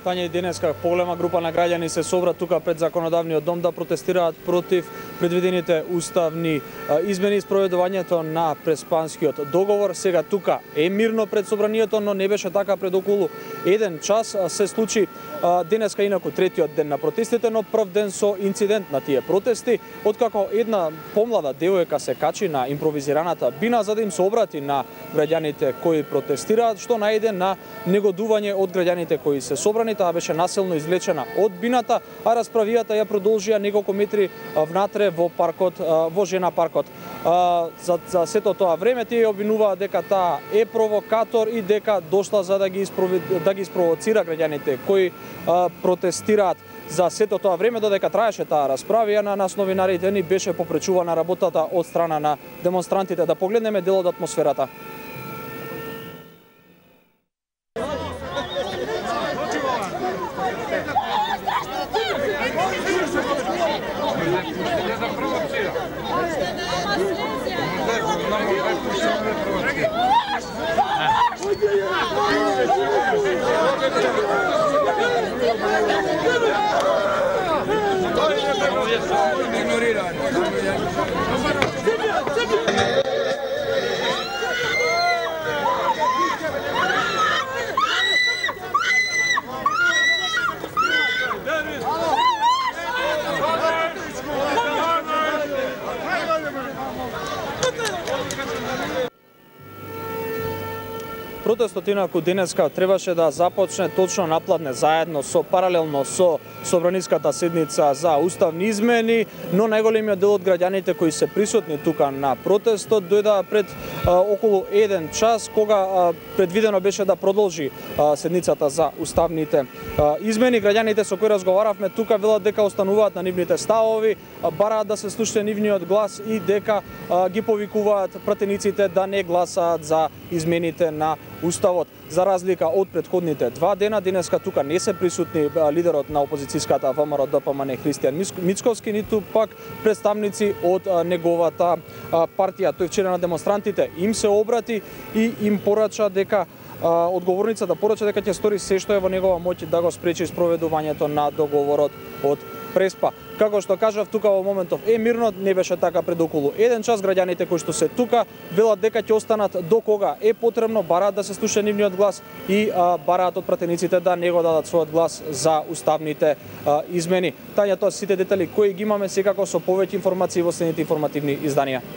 Тања, и денеска поголема група на граѓани се собра тука пред Законодавниот дом да протестираат против предвидените уставни измени и спроведувањето на Преспанскиот договор. Сега тука е мирно пред собранието, но не беше така пред околу 1 час. Се случи денеска инаку третиот ден на протестите, но прв ден со инцидент на тие протести, откако една помлада девојка се качи на импровизираната бина за да им се обрати на граѓаните кои протестираат, што најде на негодување од граѓаните кои се собрани. Таа беше насилно извлечена од бината, а расправијата ја продолжија неколку метри внатре во паркот, во жена паркот. За сето тоа време тие обвинуваат дека таа е провокатор и дека дошла за да ги спровоцира граѓаните кои протестираат. За сето тоа време, додека траеше таа расправија, на нас новинарите ни беше попречувана работата од страна на демонстрантите. Да погледнеме дел од атмосферата. Протестот инаку денеска требаше да започне точно напладне заедно паралелно со собраниската седница за уставни измени, но најголемиот дел од граѓаните кои се присутни тука на протестот дојдоа пред околу 1 час, кога предвидено беше да продолжи седницата за уставните измени. Граѓаните со кои разговаравме тука велат дека остануваат на нивните ставови, бараат да се слуша нивниот глас и дека ги повикуваат пратениците да не гласаат за измените на Уставот. За разлика од претходните 2 дена, денеска тука не се присутни лидерот на опозицијската ВМРО ДПМН Христијан Мицковски, ниту пак представници од неговата партија. Тој вчера на демонстрантите им се обрати и им порача дека одговорницата порача дека ќе стори се што е во негова моќ да го спречи спроведувањето на договорот од Преспа. Како што кажав, тука во моментов е мирно, не беше така пред околу 1 час. Граѓаните кои што се тука велат дека ќе останат до кога е потребно, бараат да се слуша нивниот глас и бараат од пратениците да не го дадат својот глас за уставните измени. Тања, тоа сите детали кои ги имаме, секако со повеќе информации во следните информативни изданија.